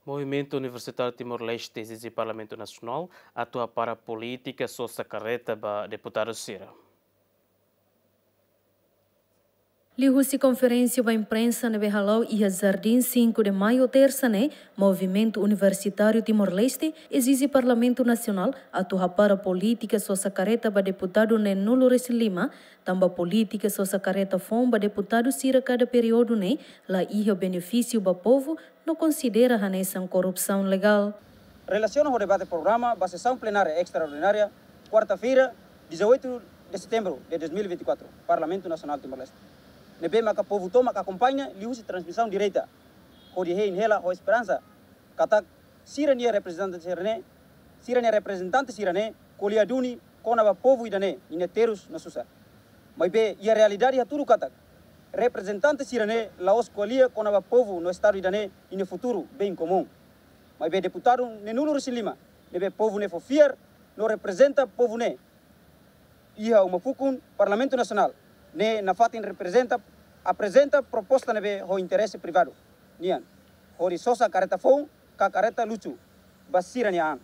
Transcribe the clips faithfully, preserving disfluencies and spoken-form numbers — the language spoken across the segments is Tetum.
Movimentu Universitáriu Timor-Leste ezije Parlamentu Nasionál atu hapara polítika sosa karreta ba deputadu sira. Liuhusi konferénsia ba imprensa ne'ebé hala'o iha Jardim cinco de Maio, tersa ne'e, Movimentu Universitáriu Timor-Leste ezije Parlamentu Nasionál atu hapara polítika sosa karreta ba deputadu neenulu-resin-lima, tanba polítika sosa karreta foun ba deputadu sira kada períodu ne'e la iha benefísiu ba povu, no konsidera hanesan korrupsaun legál. Relasiona ho debate programa ba sesaun plenária estraordinária, kuarta-feira, dezoito de setembro de dois mil e vinte e quatro, Parlamentu Nasionál Timor-Leste, ne'ebé maka povu tomak akompaña liuhusi transmisaun direta, hodi hein hela ho esperansa katak sira-nia reprezentante sira-ne'e, sira-nia reprezentante sira-ne'e ko'alia duni kona-ba povu ida-ne'e ninia terus no susar. Maibé iha realidade hatudu katak reprezentante sira-ne'e la'ós ko'alia kona-ba povu no estadu ida-ne'e ninia futuru, bem komún. Maibé deputadu neenulu-resin-lima ne'ebé povu ne'e fó fiar no reprezenta povu ne'e iha uma fukun Parlamentu Nasionál ne'e nafatin reprezenta, aprezenta proposta ne'ebé ho interese privadu nian, hodi sosa karreta foun ka karreta luxu ba sira-nia an.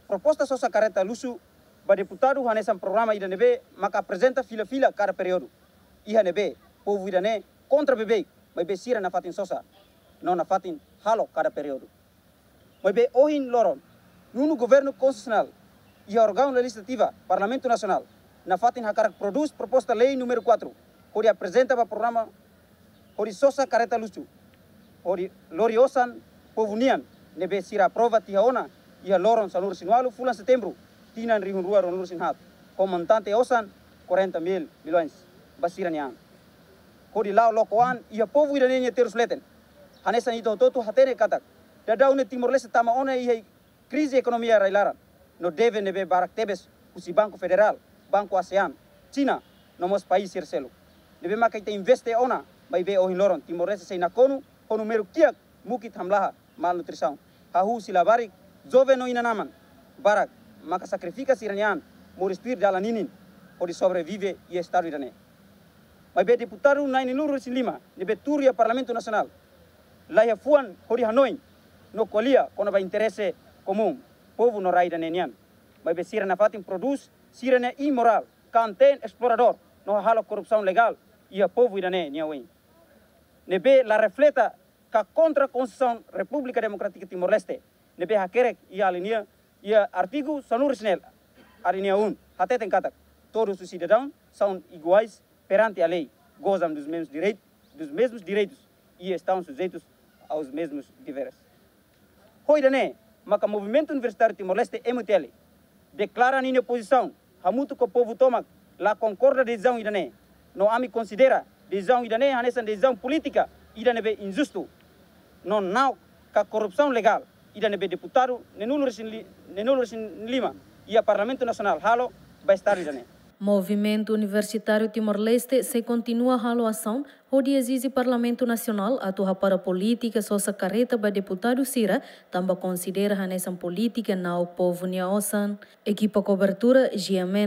Proposta sosa karreta luxu ba deputadu hanesan programa ida ne'ebé maka aprezenta fila-fila kada períodu, iha ne'ebé povu ida-ne'e kontra beibeik, maibé sira nafatin sosa no nafatin halo kada períodu. Maibé ohin loron, nonu Governu Konstitusionál iha órgaun lejizlativa, Parlamentu Nasionál, nafatin hakarak prodús proposta lei númeru quatro, hodi aprezenta ba programa hodi sosa karreta luxu, hodi lori osan povu nian, ne'ebé sira aprova tiha ona iha loron sanulu-resin-ualu fulan Setembru, tinan rihun rua ruanulu-resin-haat, ho montante osan quarenta mil milhões ba sira-nia an, hodi la'o loko an iha povu ida-ne'e nia terus leten. Hanesan ita hotu-hotu hatene katak daudaun ne'e Timor-Leste tama ona iha krize ekonomia rai-laran, no deve ne'ebé barak tebes husi Banku Federál, Banku ASEAN, Xina, no mós país sira seluk, ne'ebé maka ita investe ona, maibé ohin loron Timor-Leste sei nakonu ho númeru kiak mukit hamlaha, malnutrisaun. Hahú husi labarik, joven no inan-aman barak maka sakrifika sira-nia an, moris tuir dalan ninin, hodi sobrevive iha estadu ida-ne'e. Maibé deputadu na'in-nulu-resin-lima ne'ebé tuur iha Parlamentu Nasionál laiha fuan hodi hanoin no ko'alia kona-ba interese komún povu no rai ida-ne'e nian. Maibé sira nafatin prodús sira-nia imorál, kanteen, esploradór no halo korrupsaun legál iha povu ida-ne'e nia oin, ne'ebé la refleta ka kontra Konstituisaun Repúblika Demokrátika Timor-Leste, ne'ebé hakerek iha alínea, iha artigu sanulu-resin-neen, alínea um, hateten katak todos os cidadãos são iguais perante a lei, gozam dos mesmos direitos, dos mesmos direitos e estão sujeitos aos mesmos deveres. Ho ida-ne'e maka Movimentu Universitáriu Timor-Leste, M U T L, deklara ninia pozisaun hamutuk ho povu tomak, la konkorda desizaun ida-ne'e. No ami konsidera desizaun ida-ne'e hanesan desizaun polítika ida ne'ebé injustu no na'ok ka korrupsaun legál ida ne'ebé deputadu neenulu-resin-li-, neenulu-resin-lima iha Parlamentu Nasionál halo ba estadu ida-ne'e. Movimentu Universitáriu Timor-Leste sei kontinua halo asaun hodi ezije Parlamentu Nasionál atu hapara polítika sosa karreta ba deputadu sira, tanba konsidera hanesan polítika na'ok povu nia osan. Ekipa kobertura, G M N.